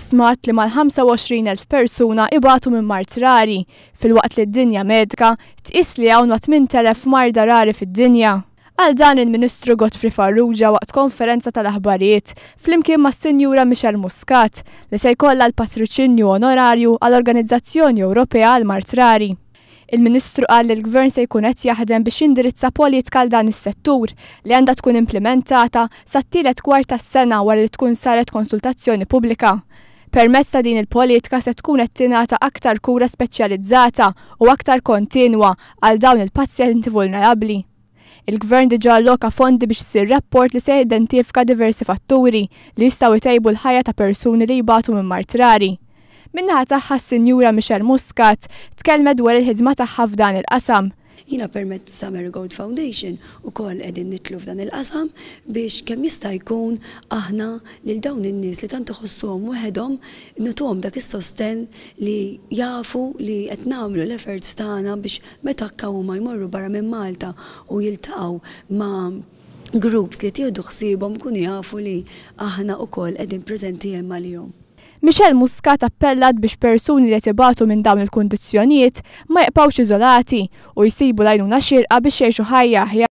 stmat li mal-25,000 persuna ibatu minn mard rari, filwaqt li d-dinja medika tqis li hawn ma' 8,000 marda rari fid-dinja. Qal dan il-Ministru Godfrey Farrugia waqt konferenza tal-aħbarijiet flimkien mas-Sinjura Michelle Muscat li se jkollha l-patroċinju onorarju għall-Organizzazzjoni Ewropea għall-Mard Rari. Il-Ministru qal li l-Gvern se jkun qed jaħdem biex jindirizza politika għal dan is-settur li għandha tkun implimentata sat-tielet kwart tas-sena wara li tkun saret konsultazzjoni pubblika. Permezz ta' din il-politika se tkun qed tingħata aktar kura speċjalizzata u aktar kontinwa għal dawn il-pazjenti vulnerabbli. Il-Gvern diġà alloka fondi biex isir rapport li se jidentifika diversi fatturi li jistgħu jtejbu l-ħajja ta' persuni li jbatu minn mard rari. Min-naħa tagħha s-Sinjura Michelle Muscat tkellmet dwar il-ħidma tagħha f'dan il-qasam. Jiena permezz ta' Marigold Foundation ukoll qegħdin nidħlu f'dan il-qasam biex kemm jista' jkun aħna lil dawn in-nies li tant iħossuhom waħedhom nagħtuhom dak is-sostenn li jafu li qed nagħmlu l-efforts tagħna biex meta anke huma jmorru barra minn Malta u jiltaqgħu ma' groups li qed jieħdu ħsiebhom ikunu jafu li aħna wkoll qegħdin preżenti hemm għalihom. Michelle Muscat appellat biex persuni li qed ibatu minn dawn il-kundizzjonijiet ma jibqgħux iżolati u jsibu l-għajnuna xierqa biex jgħixu ħajja aħjar.